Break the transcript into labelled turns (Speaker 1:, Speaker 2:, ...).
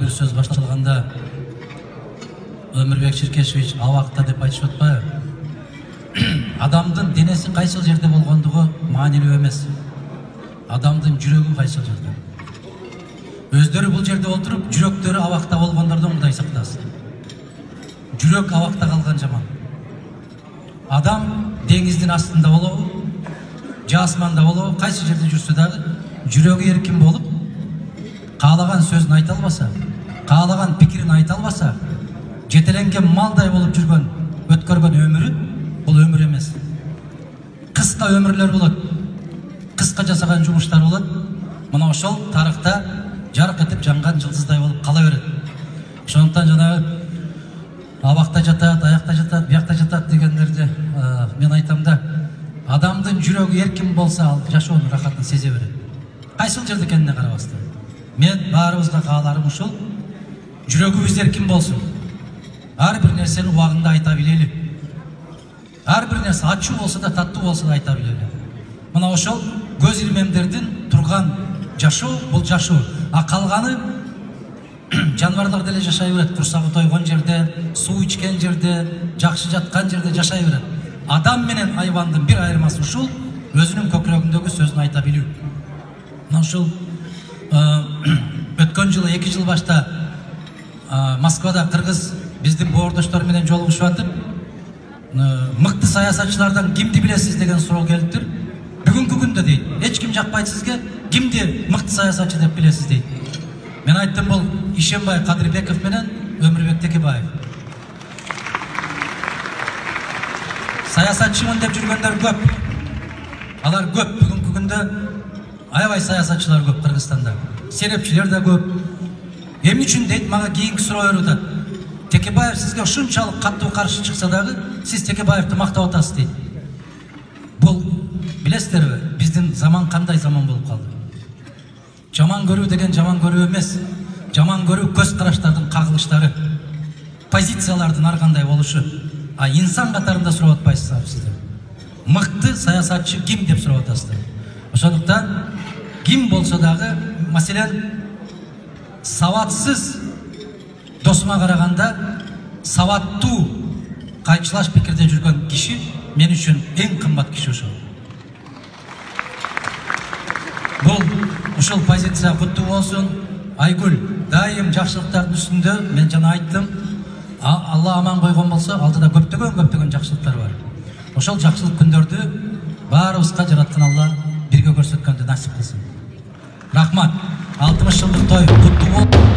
Speaker 1: бир сөз башталганда Өмүрбек Ширкешевич абакта деп айтышып атпайбы? Адамдын денеси кайсыл жерде болгондугу маанилүү эмес. Адамдын жүрөгү кайсыл жерде. Өздөрү бул жерде отуруп, жүрөктөрү абакта болгондордон Кудай сактасын. Жүрөк абакта калган жаман. Адам деңиздин астында болобу, же асманда болобу, кайсы жерде жүрсө дагы жүрөгү эркин болуп, каалаган сөзүн айта албаса, каалаган пикирин айта албаса, жетеленген малдай болуп жүргөн, өткөргөн өмүрү бул өмүр эмес. Кыска өмүрлөр болот. Кыска жасаган жумуштар болот. Мына ошол тарыхта жарык этип жанган жылдыздай болуп кала берет. Ошондуктан жанагы абакта жатат, аякта жатат, биякта жатат дегендерди мен айтам да, адамдын жүрөгү эркин болсо ал жашоонун рахатын сезе берет. Кайсыл жерде экенине карабастан. Мен баарыбызга кааларым ушул: жүрөгүбүз эркин болсун. Ар бир нерсени убагында айта билели. Ар бир нерсе ачуу болсо да, таттуу болсо да айта билели. Мына ошол көз ирмемдердин турган жашоо бул жашоо. А калганы жаныбарлар деле жашай берет. Курсагы тойгон жерде, суу ичкен жерде, жакшы жаткан жерде жашай берет. Адам менен айбандын бир айырмасы ушул: өзүнүн көкүрөгүндөгү сөзүн айта билүү. Мына ушул өткөн жылы 2 жыл башта Москвада кыргыз биздин боордоштор менен жолугушуп атып, мыкты саясатчылардан кимди билесиз деген суроо келиптир. Бүгүнкү күндө дейт, эч ким жакпайт сизге, кимди мыкты саясатчы деп билесиз дейт. Мен айттым, бул Ишенбай Кадырбеков менен Өмүрбек Текебаев. Саясатчымын деп жүргөндөр көп. Алар көп. Бүгүнкү күндө аябай саясатчылар көп Кыргызстанда. Серепчилер да көп. Эмне үчүн дейт, мага кийинки суроо берип атат. Текебаев сизге ушунчалык каттуу каршы чыкса дагы, сиз Текебаевди мактап атасыз дейт. Бул билесиздерби, биздин заман кандай заман болуп калды? Жаман көрүү деген жаман көрүү эмес. Жаман көрүү көз караштардын кагылыштары, позициялардын ар кандай болушу. А инсан катарында сурап атпайсыздар сиздер. Мыкты саясатчы ким деп сурап атасыздар. Ошондуктан ким болсо дагы, маселен, сабатсыз досума караганда сабаттуу кайчылаш пикирде жүргөн киши мен үчүн эң кымбат киши ошол. Бул ушул позиция куттуу болсун. Айгүл дайым жакшылыктардын үстүндө. Мен жана айттым, Алла аман койгон болсо, алдыда көптөгөн жакшылыктар бар. Ошол жакшылык күндөрдү баарыбызга жараткан Алла бирге көрсөткөндү насип кылсын. Рахмат. 60 жылдык той куттуу болсун.